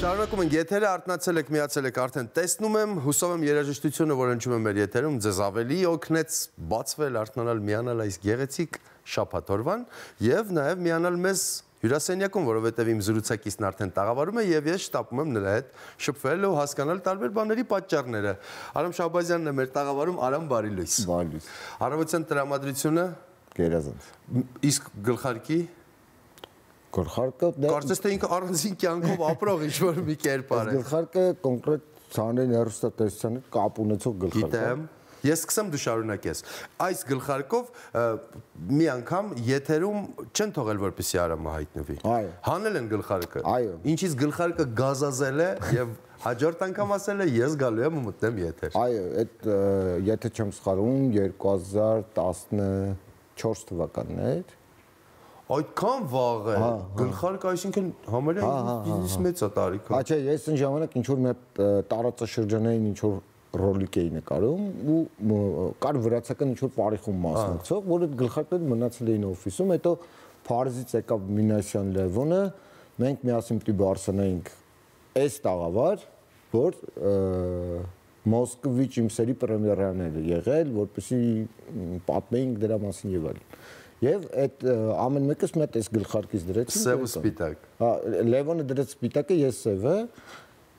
Շարունակում ենք եթերը, արթնացել եք, միացել եք, արդեն տեսնում եմ, հուսով եմ երաժշտությունը, որ հնչում է մեր եթերում, ձեզ ավելի օգնեց բացվել, արթնանալ, միանալ այս գեղեցիկ շաբաթ օրվան եւ նաեւ միանալ մեզ հյուրասենյակում, որովհետեւ իմ զրուցակիցն արդեն տաղավարում է եւ ես շտապում եմ նրա հետ շփվել ու հասկանալ տարբեր բաների պատճառները։ Արամ Շահբազյանն է մեր տաղավարում, Արամ, բարի լույս։ Բարի լույս։ Առավոտյան տրամադրությունը Գերազանց։ Իսկ գլխարկի Գլխարկը կարծես թե ինքը առանձին կյանքով ապրող ինչ-որ մի կերպար է։ Գլխարկը կոնկրետ ցանրային հեռուստատեսության հետ կապ ունեցող գլխարկ է։ Գիտեմ։ Ես սկսեմ դու շարունակես։ Այս գլխարկով մի անգամ եթերում չեն թողել որպեսզի Արամը հայտնվի։ Այո։ Հանել են գլխարկը։ Այո։ Ինչից գլխարկը գազազել է եւ հաջորդ անգամ ասել է ես գալու եմ ու մտնեմ եթեր։ Այո, այդ եթե չեմ սխալվում 2014 թվականն էր։ Այդքան վաղ է։ Գլխարկը այսինքն համարյա բիզնես մեծ է տարիքով։ Հա, չէ, ես այն ժամանակ ինչ որ մի տարածաշրջանային ինչ որ ռոլիկ էի նկարում ու կար վրացական ինչ որ բարիխում մասնակցող, որ այդ գլխարկները մնացել էին օֆիսում, հետո Փարիզից եկավ Մինասյան Լևոնը, մենք միասին պիտի բարձրանայինք այս տաղավար, որ Մոսկվիչ իմ սերի պրեմիերան էր եղել, որպեսզի պատմեինք դրա մասին եւ այլն։ Եվ այդ ամեն մեկս մի հատ այս գլխարկից դրեցին։ Սև ու սպիտակ։ Հա, Լևոնը դրեց սպիտակը, ես սևը։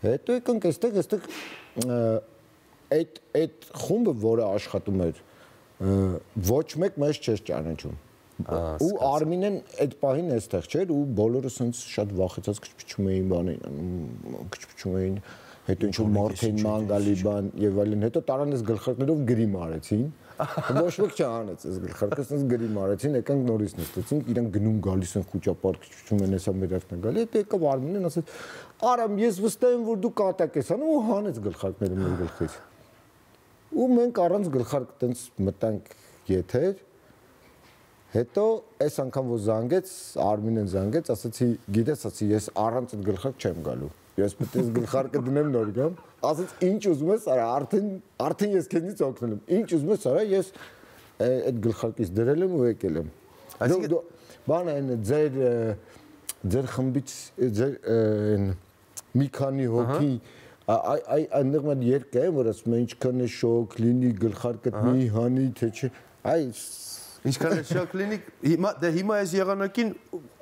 Հետո եկանք այստեղ այդ խումբը, որը աշխատում էր, ոչ մեկ մեզ չէր ճանաչում։ Ու Արմինեն այդ պահին այստեղ չէր ու բոլորը սենց շատ վախեցած քչփչում էին բանին, քչփչում էին, հետո ինչ-որ մարդ էին մանգալի բան եւ այլն, հետո տարան այս գլխարկներով գրիմ արեցին։ Ոչ ոք չանեց այս գլխարկը, սենց գրիմ արեցին, եկանք նորից նստեցինք, իրանք գնում գալիս են խոճապար քչփչում են, հեսա մեր արդեն գալի, հետո եկավ Արմինեն ասեց. «Արամ, ես վստահ եմ, որ դու կատակ ես անում» ու հանեց գլխարկները մեր գլխից։ Ու մենք առանց գլխարկ տենց մտանք եթեր։ Հետո այս անգամ որ զանգեց, Արմինեն զանգեց, ասացի, գիտես, ասացի, ես առանց այդ գլխարկ չեմ գալու։ Ես պետք է գլխարկը դնեմ նոր գամ։ Ասաց, ինչ ուզում ես, արա, արդեն ես քեզնից օգնել եմ։ Ինչ ուզում ես, արա, ես այդ գլխարկից դրել եմ ու եկել եմ։ Այսինքն բանը այն ձեր խմբից ձեր մի քանի հոգի այնտեղ մի երկ է, որ ասում են ինչքան է շոկ լինի գլխարկդ մի հանի, թե չէ։ Ինչքան է շոկ լինի, հիմա այս եղանակին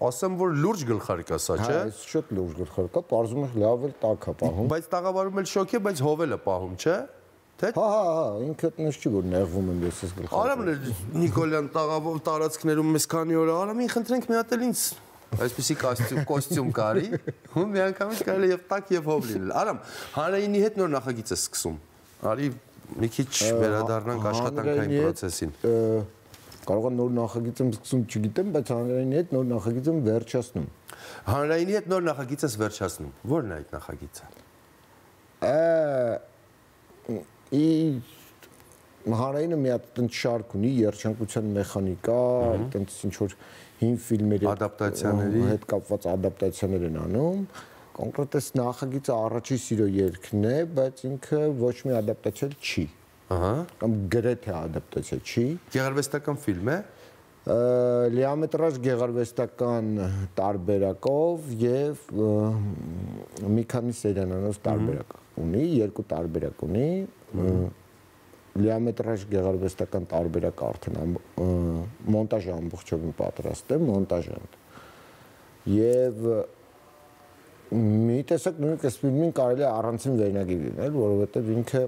ասեմ, որ լուրջ գլխարկ է սա, չէ։ Այս շատ լուրջ գլխարկ է, պարզում է լավ էլ տաք է պահում։ Բայց տաղավարում էլ շոկ է, բայց հովել է պահում, չէ։ Հա, ինքը տնես չի, որ նեղվում եմ ես այս գլխարկը։ Արամն է Նիկոլյան տաղավար տարածքներում մեզ քանի օր Արամին խնդրենք մի հատ էլ ինձ այսպեսի կոստյում կարի, ու միանգամից կարելի եւ տակ եւ հով լինել։ Արամ, հանրայինի հետ նոր նախագիծ է սկսում։ Արի մի քիչ վերադառնանք աշխատանքային process-ին։ Կարող է նոր նախագիծ եմ սկսում, չգիտեմ, բայց հանրայինի հետ նոր նախագիծ եմ վերջացնում։ Հանրայինի հետ նոր նախագիծ ես վերջացնում։ Ո՞րն է այդ նախագիծը։ Հանրայինը մի հատ տենց շարք ունի, երջանկության մեխանիկա, տենց ինչ որ հին ֆիլմերի ադապտացիաների հետ կապված ադապտացիաներ են անում։ Կոնկրետ այս նախագիծը առաջի սիրո երգն է, բայց ինքը ոչ մի ադապտացիա չի։ Ահա։ Կամ գրեթե ադապտացիա չի։ Գեղարվեստական ֆիլմ է։ Լիամետրաժ գեղարվեստական տարբերակով եւ մի քանի սերիանանոց տարբերակ ունի, երկու տարբերակ ունի։ Լիամետրաժ գեղարվեստական տարբերակը արդեն մոնտաժը ամբողջովին պատրաստ է, մոնտաժան։ Եվ մի տեսակ նույնիսկ այս ֆիլմին կարելի է առանցին վերնագիր լինել, որովհետև ինքը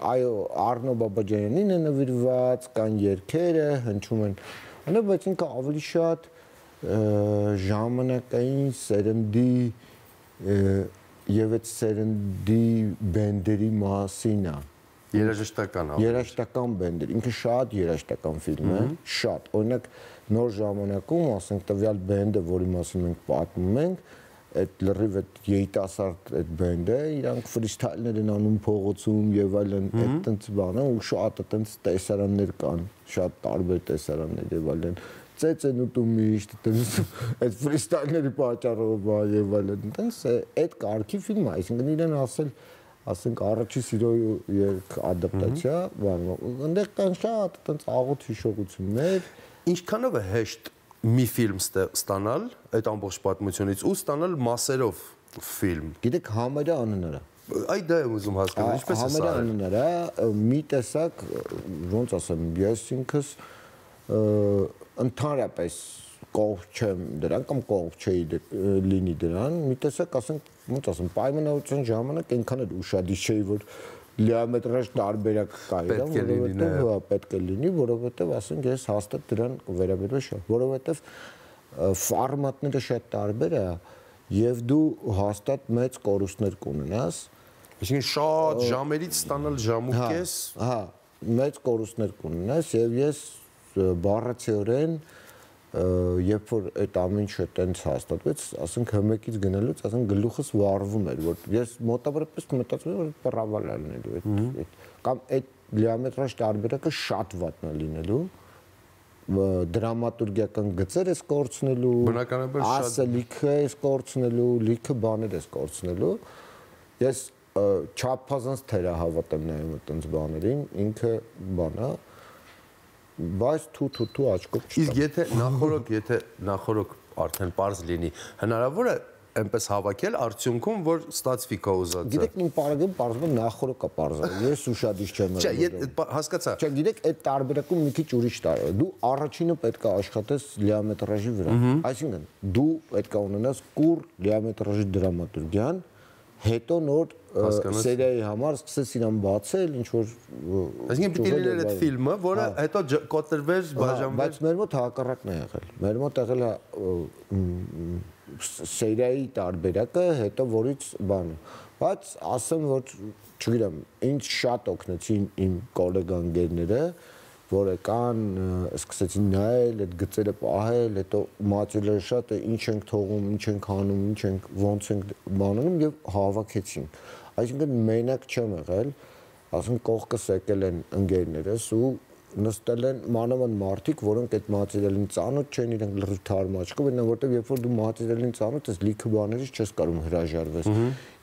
այո, Արնո Բաբաջանյանին է նվիրված, կան երգերը, հնչում են, բայց ինքը ավելի շատ ժամանակային սերնդի եւ այդ սերնդի բենդերի մասին է։ Երաժշտական բենդեր, ինքը շատ երաժշտական ֆիլմ է, շատ։ Օրինակ նոր ժամանակում, ասենք տվյալ բենդը, որի մասին մենք պատմում ենք, այդ լրիվ այդ երիտասարդ այդ բենդը, իրանք ֆրիստայլներ են անում փողոցում եւ այլն, այդ տենց բանը ու շատ այդպես տեսարաններ կան, շատ տարբեր տեսարաններ եւ այլն։ Ծեծ են ուտում միշտ, այդ ֆրիստայլների պատճառով եւ այլն, այդպես այդ կարգի ֆիլմ է, այսինքն իրեն ասենք առաջի սիրո երգ ադապտացիա, այնտեղ կան շատ այդպես աղոտ հիշողություններ։ Ինչքանով է հեշտ մի ֆիլմ ստանալ այդ ամբողջ պատմությունից ու ստանալ մասերով ֆիլմ։ Գիտեք, համերը անհնար է։ Այդ դա եմ ուզում հասկանալ, ինչպես է սա։ Համերը անհնար է, մի տեսակ, ոնց ասեմ, ես ինքս ընդհանրապես կողմ չեմ դրան կամ կողմ չէի լինի դրան, մի տեսակ ասենք, ոնց ասեմ, պայմանավորության ժամանակ այնքան էլ ուշադիր չէի, որ լիամետրաժ տարբերակ կա, որովհետև պետք է լինի, որովհետև ասենք ես հաստատ դրան վերաբերվել շատ, որովհետև ֆորմատները շատ տարբեր է եւ դու հաստատ մեծ կորուստներ կունենաս, այսինքն շատ ժամերից ստանալ ժամ ու կես, հա, մեծ կորուստներ կունենաս եւ ես բառացիորեն երբ որ այդ ամեն ինչը տենց հաստատվեց, ասենք հմեկից գնալուց, ասենք գլուխս վառվում էր, որ ես մոտավորապես մտածում եմ, որ պրավալ է լինելու այդ կամ այդ լիամետրաժ տարբերակը շատ վատն է լինելու, դրամատուրգիական գծեր ես կորցնելու, ասելիքը ես կորցնելու, լիքը բաներ ես կորցնելու։ Ես չափազանց թերահավատ եմ նայում այդպես բաներին, ինքը բան է, բայց թու աչքով չտա։ Իսկ եթե նախորոք արդեն պարզ լինի, հնարավոր է այնպես հավաքել արդյունքում, որ ստացվի քո ուզածը։ Գիտեք, իմ պարագում պարզվում նախորոք է պարզը։ Ես ուշադիր չեմ եղել։ Չէ, հասկացա։ Չէ, գիտեք, այդ տարբերակում մի քիչ ուրիշ տարբեր։ Դու առաջինը պետք է աշխատես լիամետրաժի վրա։ Այսինքն, դու պետք է ունենաս կուր լիամետրաժի դրամատուրգիան, հետո նոր սերիայի համար սկսես իրան բացել, ինչ որ այսինքն պիտի լիներ այդ ֆիլմը, որը հետո կոտրվեր, բաժանվեր։ Բայց մեր մոտ հակառակն է եղել։ Մեր մոտ եղել է սերիայի տարբերակը, հետո որից բանը։ Բայց ասեմ, որ չգիտեմ, ինձ շատ օգնեցին իմ գոլեգանգերները, որ եկան, սկսեցին նայել, այդ գծերը պահել, հետո մատերիալը շատ է, ինչ ենք թողում, ինչ ենք անում, ինչ ենք, ոնց ենք բանանում եւ հավաքեցին։ Այսինքն մենակ չեմ եղել, ասենք կողքս եկել են ընկերներս ու նստել են մանավանդ մարդիկ, որոնք այդ մատերիալին ծանոթ չեն, իրենք լրիվ թարմ աչքով են, որտեղ երբ որ դու մատերիալին ծանոթ ես, լիքը բաներից չես կարող հրաժարվես։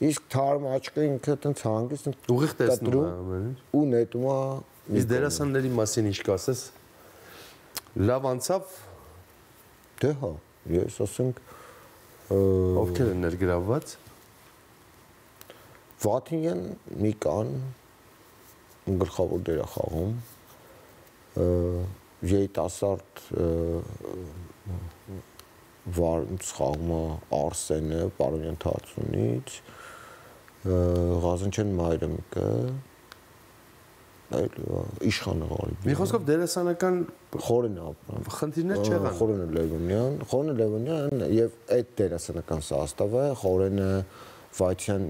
Իսկ թարմ աչքը ինքը այդպես հանգիստ ուղիղ տեսնում է ու նետում է։ Իսկ դերասանների մասին ինչ կասես։ Լավ անցավ։ Դե հա, ես ասենք ովքեր են ներգրավված։ Վաթինյան մի կան գլխավոր դեր է խաղում, երիտասարդ վարից խաղում է Արսենը Պարոնյան Թատրոնից, Ղազանչյան Մայրամիկը, Իշխանը Ղարիբյան։ Մի խոսքով դերասանական Խորեն ապրան։ Խնդիրներ չեղան։ Խորենը Լևոնյան եւ այդ դերասանական սաստավը Խորենը Վայթյան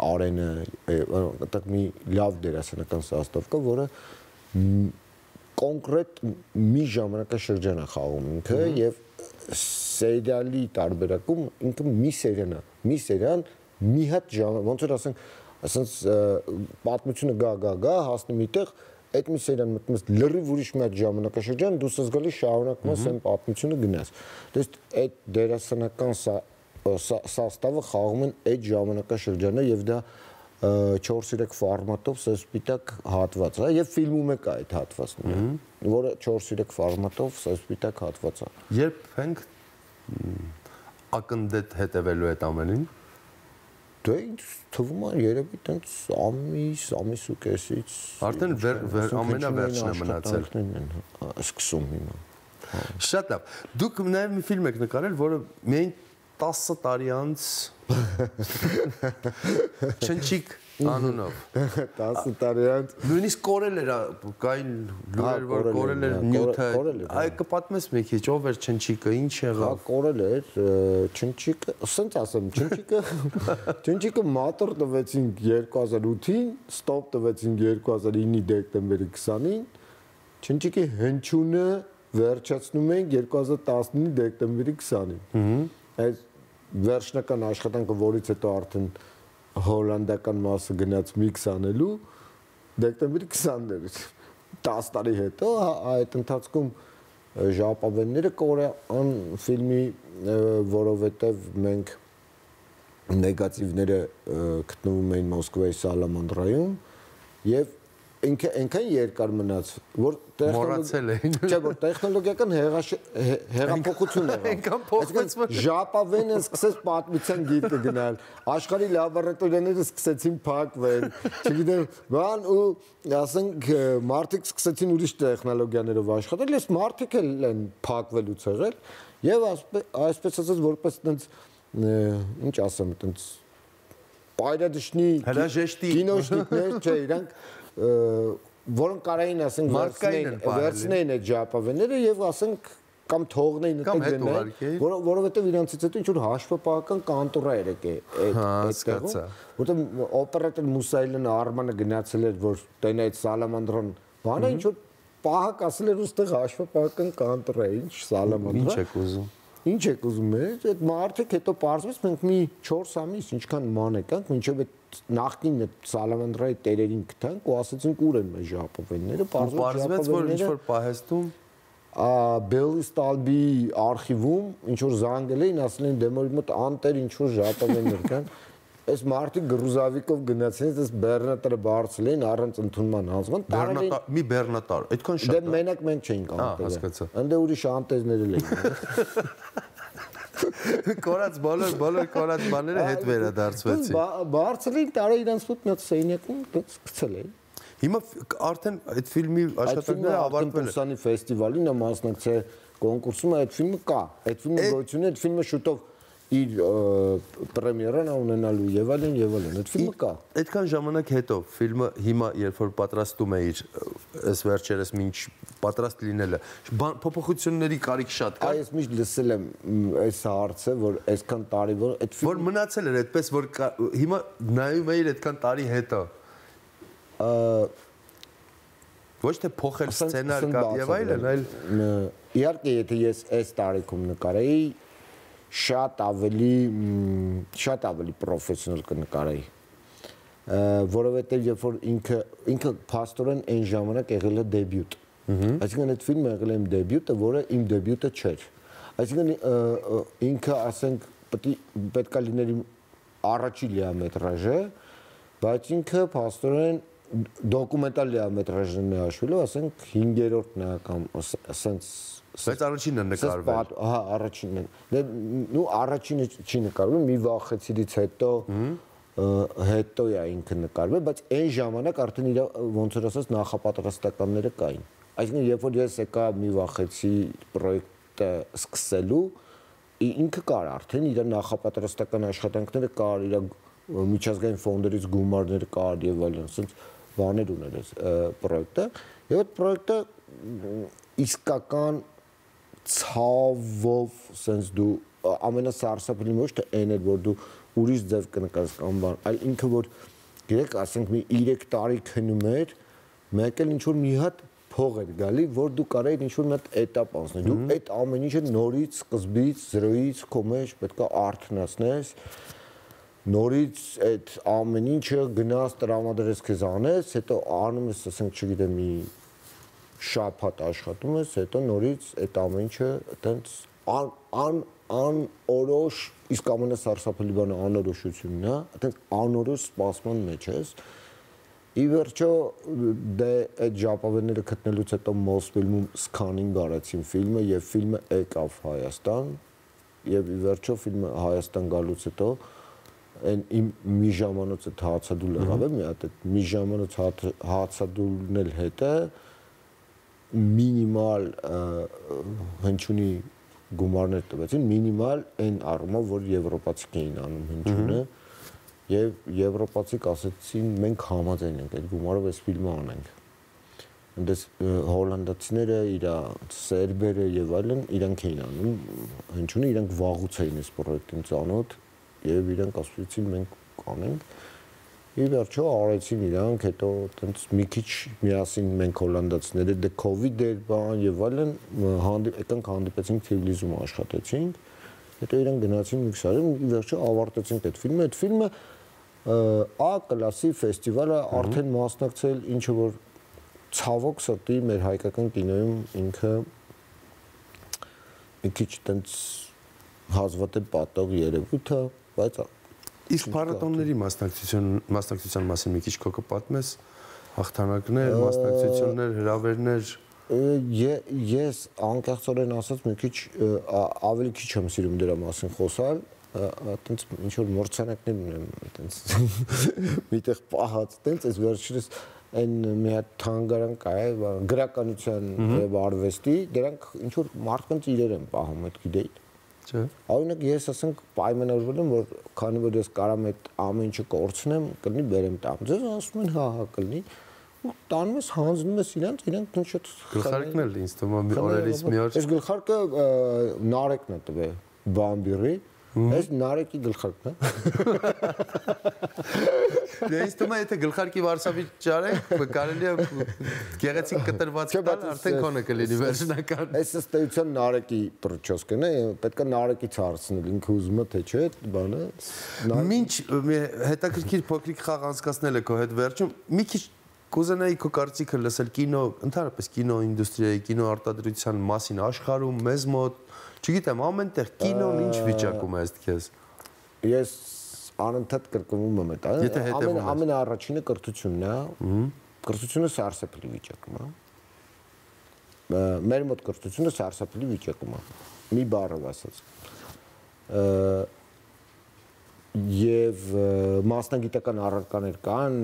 Արենը, այդտեղ մի լավ դերասանական սաստավ կա, որը կոնկրետ մի ժամանակաշրջան է խաղում ինքը եւ սերիալի տարբերակում ինքը մի սերիան մի հատ ոնց որ ասենք պատմությունը գա հասնում միտեղ այդ մի սերիան մտնում ես լրիվ ուրիշ մի հատ ժամանակաշրջան դու զգալի շարունակում ես այն պատմությունը գնաս։ Դες այդ դերասանական սաստավը խաղում են այդ ժամանակաշրջանը եւ դա 4-3 ֆորմատով սպիտակ հատված է եւ ֆիլմում է կա այդ հատվածը, որը 4-3 ֆորմատով սպիտակ հատված է։ Երբ ենք ակնդետ հետևելու այդ ամենին։ Դե թվում է երևի տենց ամիս ու կեսից արդեն ամենավերջն է մնացել։ Սկսում հիմա։ Շատ լավ։ Դուք նաև մի ֆիլմ եք նկարել, որը միայն 10 տարի անց Չնչիկ անունով 10 տարի անց նույնիսկ կորել էր կային լուրեր որ կորել էր նյութը այ կպատմես մի քիչ ով էր Չնչիկը ինչ եղավ։ Հա կորել էր Չնչիկը ասենց ասեմ Չնչիկը մատոր տվեցին 2008-ին ստոպ տվեցին 2009-ի դեկտեմբերի 20-ին Չնչիկի հնչյունը վերջացնում են 2019-ի դեկտեմբերի 20-ին այս վերջնական աշխատանքը որից հետո արդեն հոլանդական մասը գնաց միքս անելու դեկտեմբերի 20-ից 10 տարի հետո այդ ընթացքում ժապավենները կորեան ֆիլմի որովհետև մենք նեգատիվները գտնվում էին Մոսկվայի Սալամանդրայում եւ այնքան երկար մնաց, որ մոռացել էին։ Չէ, որ տեխնոլոգիական հեղափոխություն եղավ։ Ժապավենը սկսեց պատմության գիրկը գնալ, աշխարհի լաբորատորիաները սկսեցին փակվել, չգիտեմ, բան ու ասենք մարդիկ սկսեցին ուրիշ տեխնոլոգիաներով աշխատել, ես մարդիկ են փակվելուց եղել եւ այսպես ասած որպես այդպես ինչ ասեմ, այդպես պայրադշնի կինոշնիկներ, չէ, իրանք որոնք կարային ասենք վերցնեին այդ ժապավենները եւ ասենք կամ թողնեին այդտեղ գնալ, որովհետեւ իրանցից հետո ինչ որ հաշվապահական կանտորա էր եկել այդտեղում, որտեղ օպերատոր Մուսայելն Արմանը գնացել էր, որ տենա այդ Սալամանդրան բանը ինչ որ պահակ ասել էր ուստեղ հաշվապահական կանտորա, ինչ Սալամանդրա։ Ինչ եք ուզում։ Ինչ եք ուզում եք, այդ մարդիկ հետո պարզվեց մենք մի 4 ամիս ինչքան ման եկանք, մինչև այդ նախկին Սալամանդրայի տերերին գտանք ու ասացինք ուր են մեր ժապավենները, պարզվեց որ ինչ որ պահեստում Բելիստալբի արխիվում ինչ որ զանգել էին, ասել են դե մեր մոտ անտեր ինչ որ ժապավեններ կան, այս մարդիկ գրուզավիկով գնացին, այս բեռնատարը բարձել էին առանց ընդունման հանձնման, մի բեռնատար, այդքան շատ։ Դե մենակ մենք չէինք անտերը։ Ընդ ուրիշ անտեզներ էլ էին։ Կորած բոլոր կորած բաները հետ վերադարձվեցին։ Բարձել էին տարա իրանց մոտ մի հատ սենյակում գցել էին։ Հիմա արդեն այդ ֆիլմի աշխատանքները ավարտվել են։ Պուսանի ֆեստիվալին նա մասնակցել կոնկուրսում, այդ ֆիլմը կա։ Այդ ֆիլմը գոյություն է, այդ ֆիլմը շուտով իր պրեմիերան ունենալու եւ այլն այդ ֆիլմը կա։ Այդքան ժամանակ հետո ֆիլմը հիմա երբ որ պատրաստում է իր այս վերջերս մինչ պատրաստ լինելը փոփոխությունների կարիք շատ կա։ Այս միշտ լսել եմ այս հարցը, որ այսքան տարի որ այդ ֆիլմը որ մնացել էր այդպես որ հիմա նայում էիր այդքան տարի հետո ոչ թե փոխել սցենար կա եւ այլն, այլ իհարկե եթե ես այս տարիքում նկարեի շատ ավելի պրոֆեսիոնալ կնկարեի, որովհետև երբ որ ինքը փաստորեն այն ժամանակ եղել է դեբյուտ, այսինքն այդ ֆիլմը եղել է իմ դեբյուտը, որը իմ դեբյուտը չէր, այսինքն ինքը ասենք պետք է լիներ իմ առաջին լիամետրաժը, բայց ինքը փաստորեն դոկումենտալ լիամետրաժն է հաշվելով, ասենք 5-րդն է կամ ասենց բայց առաջինն է նկարվել։ Հա, առաջինն է։ Նու առաջինը չի նկարվել, մի վախեցիից հետո է ինքը նկարվել, բայց այն ժամանակ արդեն իր ոնց որ ասած նախապատրաստականները կային։ Այսինքն երբ որ ես եկա մի վախեցի պրոյեկտը սկսելու, ինքը կար արդեն իր նախապատրաստական աշխատանքները կար, իր միջազգային ֆոնդերից գումարներ կար եւ այլն, ասենց բաներ ուներ այս պրոյեկտը։ Եվ այդ պրոյեկտը իսկական ցավով sense դու ամենասարսափելի ոչ թե այն էր որ դու ուրիշ ձև կնկարես կամ բան, այլ ինքը որ գիտեք, ասենք մի 3 տարի քնում էր, մեկ էլ ինչ որ մի հատ փող էր գալի, որ դու կարեիր ինչ որ մի հատ էտապ անցնել։ Դու այդ ամեն ինչը նորից, սկզբից, զրոյից քո մեջ պետք է արթնացնես, նորից այդ ամեն ինչը գնաս տրամադրես քեզ անես, հետո անում ես, ասենք, չգիտեմ, մի շաբաթ աշխատում ես, հետո նորից այդ ամեն ինչը այտենց անորոշ, իսկ ամենասարսափելի բանը անորոշությունն է, այտենց անորոշ սպասման մեջ ես։ Ի վերջո դե այդ ժապավենները գտնելուց հետո Մոսֆիլմում սքանինգ արեցին ֆիլմը եւ ֆիլմը եկավ Հայաստան եւ ի վերջո ֆիլմը Հայաստան գալուց հետո այն իմ մի ժամանոց այդ հացադուլ եղավ է մի հատ այդ մի ժամանոց հացադուլն էլ հետը մինիմալ հնչյունի գումարներ տվեցին, մինիմալ այն առումով, որ եվրոպացիք էին անում հնչյունը եւ եվրոպացիք ասեցին մենք համաձայն ենք այդ գումարով այս ֆիլմը անենք։ Այնտես հոլանդացիները, իր սերբերը եւ այլն իրանք էին անում հնչյունը, իրանք վաղուց էին այս պրոյեկտին ծանոթ եւ իրանք ասացին մենք կանենք։ Ի վերջո արեցին իրանք, հետո այտենց մի քիչ միասին մենք հոլանդացիները դե կովիդ էր բան եւ այլն եկանք հանդիպեցինք Թիֆլիսում աշխատեցինք, հետո իրանք գնացին մի քսարում, ի վերջո ավարտեցինք այդ ֆիլմը A կլասի ֆեստիվալը արդեն մասնակցել, ինչը որ ցավոք սրտի մեր հայկական կինոյում ինքը մի քիչ այտենց հազվադեպ պատող երևույթ է, բայց իսկ փառատոնների մասնակցության մասին մի քիչ քո կպատմես Հաղթանակներ, մասնակցություններ, հրավերներ։ Ես անկեղծորեն ասած մի քիչ ավելի քիչ եմ սիրում դրա մասին խոսալ, այտենց ինչ որ մրցանակներ ունեմ, այտենց միտեղ պահած, այտենց այս վերջերս այն մի հատ թանգարան կա, գրականության եւ արվեստի, դրանք ինչ որ մարդկանց իրեր են պահում, այդ գիտեի։ Չէ։ Օրինակ ես ասենք պայմանավորվել եմ, որ քանի որ ես կարամ այդ ամեն ինչը կորցնեմ, կլինի բերեմ տամ։ Ձեզ ասում են հա կլինի։ Ու տանում ես հանձնում ես իրանք ինչ շատ գլխարկն էլ ինձ թվում է օրերից մի օր։ Այս գլխարկը Նարեկն է տվել Բամբիրի, այս Նարեկի գլխարկն է։ Ինձ թվում է եթե գլխարկի վարսավիճ արենք, կարելի է գեղեցիկ կտրված տալ, արդեն քոնը կլինի վերջնական։ Այս ըստեյության Նարեկի պրոչոսկն է, պետք է Նարեկից հարցնել, ինքը ուզում է թե չէ, այդ բանը։ Մինչ հետաքրքիր փոքրիկ խաղ անցկացնել է քո հետ վերջում, մի քիչ կուզենայի քո կարծիքը լսել կինո, ընդհանրապես կինոինդուստրիայի, կինոարտադրության մասին աշխարհում, մեզ մոտ, չգիտեմ, ամենտեղ կինոն ինչ վիճակում է ըստ քեզ։ Ես անընդհատ կրկնում եմ դա։ Ամենաառաջինը կրթությունն է, կրթությունը սարսափելի վիճակում է։ Մեր մոտ կրթությունը սարսափելի վիճակում է։ Մի բառով ասած։ Եվ մասնագիտական առարկաներ կան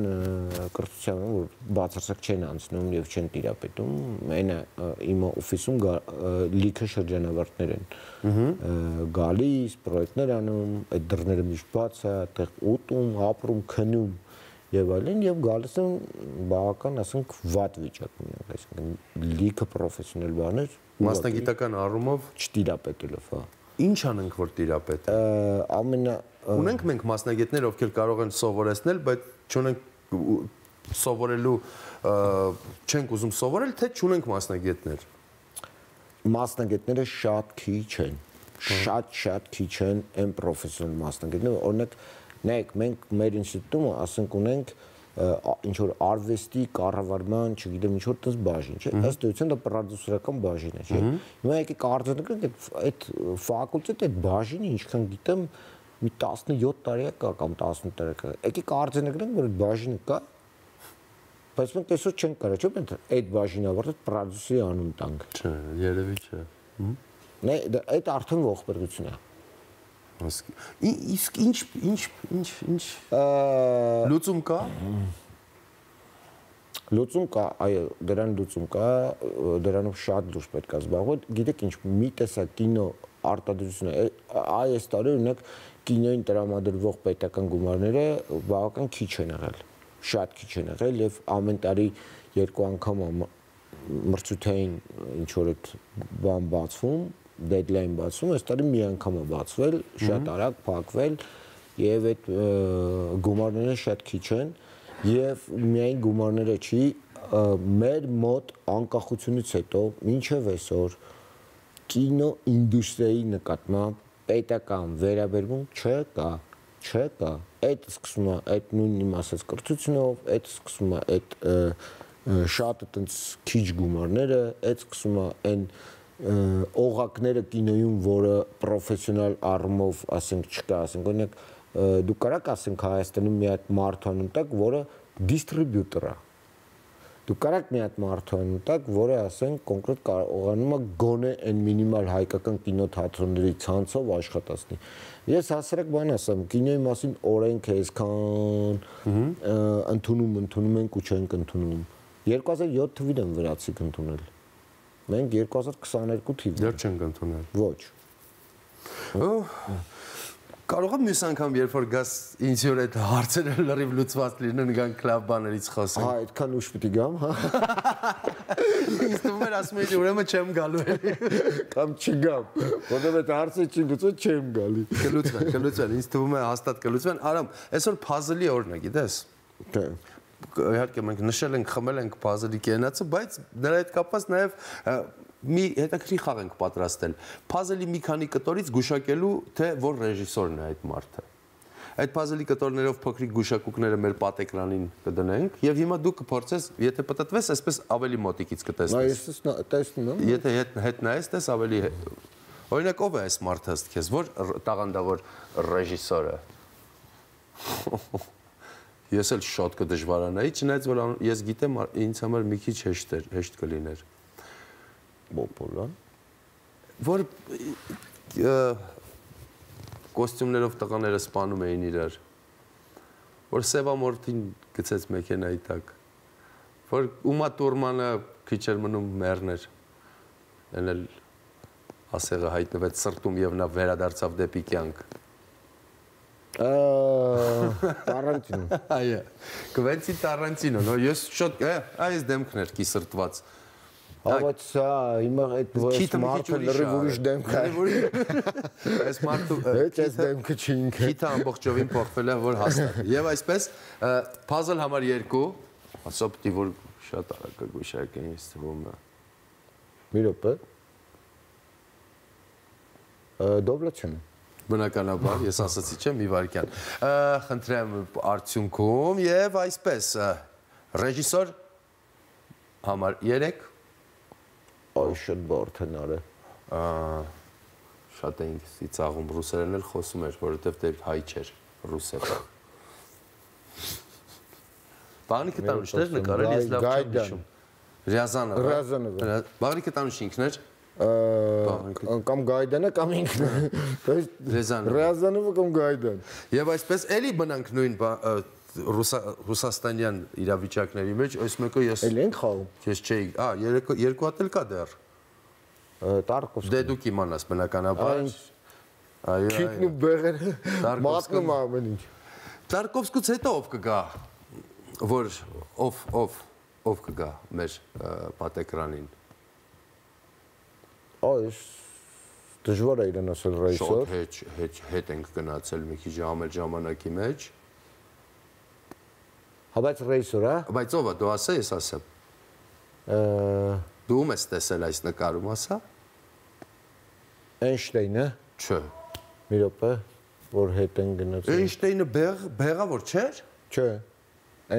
կրթության, որ բացարձակ չեն անցնում եւ չեն տիրապետում, այնը իմ օֆիսում լիքը շրջանավարտներ են գալիս, պրոյեկտներ անում, այդ դռները միշտ բաց է, այդտեղ ուտում, ապրում, քնում եւ այլն եւ գալիս են բավական, ասենք, վատ վիճակում, այսինքն լիքը պրոֆեսիոնալ բաներ մասնագիտական առումով չտիրապետելով, հա։ Ինչ անենք որ տիրապետեն։ Ունենք մենք մասնագետներ, ովքեր կարող են սովորեցնել, բայց չունենք սովորելու, չենք ուզում սովորել, թե չունենք մասնագետներ։ Մասնագետները շատ քիչ են, շատ քիչ են այն պրոֆեսիոնալ մասնագետները, օրինակ, նայեք, մենք մեր ինստիտուտում ասենք ունենք ինչ որ արվեստի կառավարման, չգիտեմ, ինչ որ տես բաժին, չէ՞, ըստ էության դա պրոդյուսերական բաժին է, չէ՞։ Հիմա եկեք արձանագրենք այդ ֆակուլտետի այդ բաժինը ինչքան գիտեմ մի 17 տարի կա կամ 18 տարի կա։ Եկեք արձանագրենք, որ այդ բաժինը կա, բայց մենք այսօր չենք կարող, չէ՞, մենք այդ բաժինը ավարտել պրոդյուսերի անուն տանք։ Չէ, երևի չէ։ Նե, այդ արդեն ողբերգություն է։ Իսկ ինչ լուծում կա։ Լուծում կա, այո, դրան լուծում կա, դրանով շատ լուրջ պետք է զբաղվել։ Գիտեք ինչ, մի տեսակ կինո արտադրությունը, այս տարի օրինակ կինոյին տրամադրվող պետական գումարները բավական քիչ են եղել, շատ քիչ են եղել եւ ամեն տարի երկու անգամ մրցութային ինչ որ այդ բան բացվում, deadline բացվում, այս տարի մի անգամ է բացվել, շատ արագ փակվել եւ այդ գումարները շատ քիչ են եւ միայն գումարները չի, մեր մոտ անկախությունից հետո մինչեւ այսօր կինո ինդուստրիայի նկատմամբ պետական վերաբերմունք չկա։ Այդ սկսում է այդ նույն իմ ասած կրթությունով, այդ սկսում է այդ շատ այտենց քիչ գումարները, այդ սկսում է այն օղակները կինոյում, որը պրոֆեսիոնալ առումով, ասենք, չկա, ասենք, օրինակ դուք կարաք ասենք Հայաստանում մի հատ մարդ անուն տակ, որը դիստրիբյուտոր է։ Դուք կարաք մի հատ մարդ անուն տակ, որը ասենք կոնկրետ կարողանում է գոնե այն մինիմալ հայկական կինոթատրոնների ցանցով աշխատացնի։ Ես հասարակ բան ասեմ, կինոյի մասին օրենք է այսքան ընդունում ենք ու չենք ընդունում։ 2007 թվին են վրացիք ընդունել։ Մենք 2022 թիվն դեռ չենք ընդունել։ Ոչ։ Կարող եմ մյուս անգամ երբ որ գաս ինձ որ այդ հարցերը լրիվ լուծված լինեն գան կլաբ բաներից խոսենք։ Հա, այդքան ուշ պիտի գամ, հա։ Ինձ թվում էր ասում էի ուրեմն չեմ գալու էլի։ Կամ չգամ, որովհետեւ այդ հարցը չի լուծվում, չեմ գալի։ Կլուծվեն, ինձ թվում է հաստատ կլուծվեն։ Արամ, այսօր puzzle-ի օրն է, գիտես։ Դե։ Իհարկե մենք նշել ենք, խմել ենք puzzle-ի կենացը, բայց նրա հետ կապված նաև մի հետաքրքիր խաղ ենք պատրաստել։ Puzzle-ի մի քանի կտորից գուշակելու, թե որ ռեժիսորն է այդ մարդը։ Այդ puzzle-ի կտորներով փոքրիկ գուշակուկները մեր պատեկրանին կդնենք եւ հիմա դու կփորձես, եթե պատտվես, այսպես ավելի մոտիկից կտեսնես։ Այս տեսնում եմ։ Եթե հետ նայես, տես ավելի օրինակ ով է այս մարդը ըստ քեզ, որ տաղանդավոր ռեժիսորը։ Ես էլ շատ կդժվարանայի, չնայած որ ես գիտեմ ինձ համար մի քիչ հեշտ կլիներ։ Բոպոլան։ Որ կոստյումներով տղաները սպանում էին իրար, որ Սևամորթին գցեց մեքենայի տակ, որ Ումա Տուրմանը քիչ էր մնում մեռներ, այն էլ ասեղը հայտնվեց սրտում եւ նա վերադարձավ դեպի կյանք։ Տարանտինո։ Այո, Կվենտին Տարանտինո, նո ես շատ այս դեմքն էր կիսրտված։ Բայց սա հիմա այդ մարդը լրիվ ուրիշ դեմք է։ Այս մարդու այս դեմքը չի ինքը։ Քիթը ամբողջովին փոխվել է, որ հաստատ։ Եվ այսպես puzzle համար 2, ասա պիտի որ շատ արագ գուշակեն ինձ թվում է։ Մի րոպե։ Դոբլացիոն։ Բնականաբար, ես ասացի չէ, մի վարքյան։ Խնդրեմ արդյունքում եւ այսպես ռեժիսոր համար 3 Այ շատ բարդ են արել։ Շատ էինք ծիծաղում, ռուսերեն էլ խոսում էր, որովհետև դեր հայ չէր, ռուս էր։ Բաղնիկը տանուշներ նկարել, ես լավ չեմ հիշում։ Ռյազանովը։ Բաղնիկը տանուշ ինքն էր։ Կամ Գայդանը կամ ինքն։ Ռյազանովը կամ Գայդան։ Եվ այսպես էլի բնանք նույն ռուսաստանյան իրավիճակների մեջ, այս մեկը ես Էլ ենք խաղում։ Ես չէի, երկու հատ էլ կա դեռ։ Տարկովսկի։ Դե դու կիմանաս բնականաբար։ Այո։ Քիթն ու բեղերը մատնում ամեն ինչ։ Տարկովսկուց հետո ով կգա, որ ով կգա մեր պատեկրանին։ Այս դժվար է իրեն ասել ռեժիսոր։ Շատ հետ ենք գնացել մի քիչ ժամանակի մեջ։ Հա բայց ռեժիսոր, հա։ Բայց ով է, դու ասա, ես ասեմ։ Դու ում ես տեսել այս նկարում, ասա։ Էյնշտեյնը։ Չէ։ Մի րոպե, որ հետ են գնացել։ Էյնշտեյնը բեղավոր չէր։ Չէ։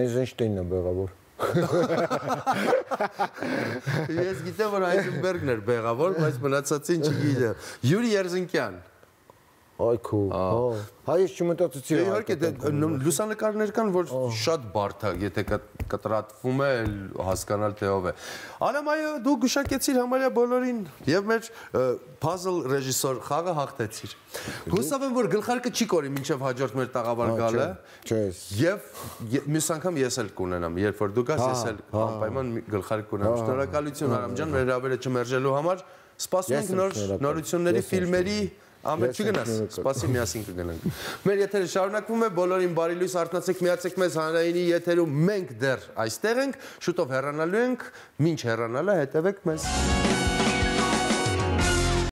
Էյնշտեյնն է բեղավոր։ Ես գիտեմ, որ Հայզենբերգն էր բեղավոր, բայց մնացածին չգիտեմ։ Յուրի Երզինկյան։ Այ քո։ Հա ես չմտածեցի։ Իհարկե լուսանկարներ կան, որ շատ բարդ է, եթե կտրատվում է, հասկանալ թե ով է։ Արամ այո, դու գուշակեցիր համարյա բոլորին եւ մեր puzzle ռեժիսոր խաղը հաղթեցիր։ Հուսով եմ, որ գլխարկը չի կորի մինչեւ հաջորդ մեր տաղավար գալը։ Չէ։ Եւ մյուս անգամ ես էլ կունենամ, երբ որ դու գաս, ես էլ անպայման գլխարկ կունենամ։ Շնորհակալություն Արամ ջան, մեր հրավերը չմերժելու համար։ Սպասում ենք նոր նորությունների, ֆիլմերի Ամեն չգնաս, սպասի միասին կգնանք։ Մեր եթերը շարունակվում է, բոլորին բարի լույս, արթնացեք, միացեք մեզ հանրայինի եթերում, մենք դեռ այստեղ ենք, շուտով հեռանալու ենք, մինչ հեռանալը հետևեք մեզ։